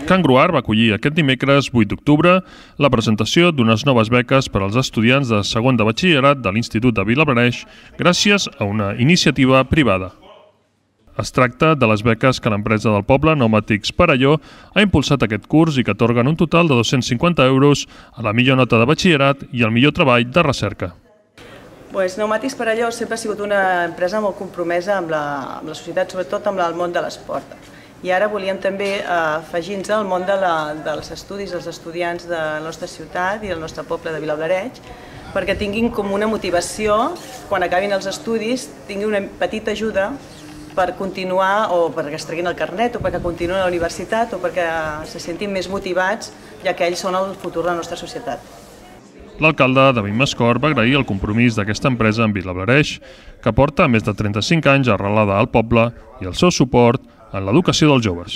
Can Gruar va acollir aquest dimecres 8 d'octubre la presentació d'unes noves beques per als estudiants de segon de batxillerat de l'Institut de Vilablareix gràcies a una iniciativa privada. Es tracta de les beques que l'empresa del poble, Pneumàtics Perelló, ha impulsat aquest curs i que atorguen un total de 250 euros a la millor nota de batxillerat i al millor treball de recerca. Pneumàtics Perelló sempre ha sigut una empresa molt compromesa amb la societat, sobretot amb el món de l'esport. I ara volíem també afegir-nos al món dels estudis, els estudiants de la nostra ciutat i del nostre poble de Vilablareix, perquè tinguin com una motivació, quan acabin els estudis, tinguin una petita ajuda per continuar, o perquè es treguin el carnet, o perquè continuïn a la universitat, o perquè se sentin més motivats, ja que ells són el futur de la nostra societat. L'alcalde, David Mascort, va agrair el compromís d'aquesta empresa en Vilablareix, que porta més de 35 anys arrelada al poble, i el seu suport en l'educació dels joves.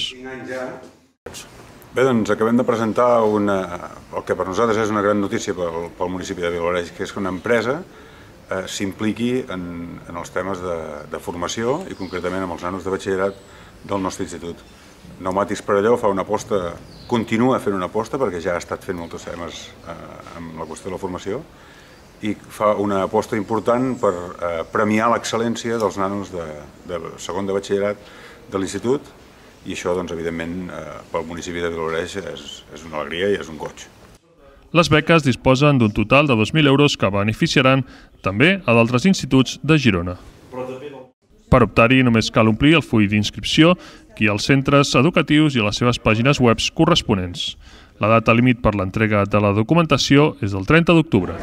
Bé, doncs acabem de presentar el que per nosaltres és una gran notícia pel municipi de Vilablareix, que és que una empresa s'impliqui en els temes de formació i concretament amb els nanos de batxillerat del nostre institut. Pneumàtics Perelló fa una aposta, continua fent una aposta, perquè ja ha estat fent molts temes amb la qüestió de la formació, i fa una aposta important per premiar l'excel·lència dels nanos de segon de batxillerat de l'institut, i això, doncs, evidentment, pel municipi de Vilablareix és una alegria i és un goig. Les beques disposen d'un total de 2.000 euros que beneficiaran també a d'altres instituts de Girona. Per optar-hi només cal omplir el full d'inscripció que hi ha als centres educatius i a les seves pàgines web corresponents. La data límit per l'entrega de la documentació és el 30 d'octubre.